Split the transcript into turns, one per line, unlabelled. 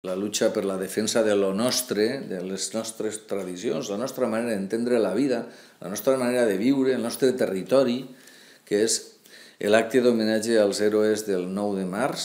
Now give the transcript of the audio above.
la lucha per la defensa de lo nostre, de les nostres tradicions, la nostra manera d'entendre la vida, la nostra manera de viure, el nostre territori, que és l'acte d'homenatge als héroes del 9 de març,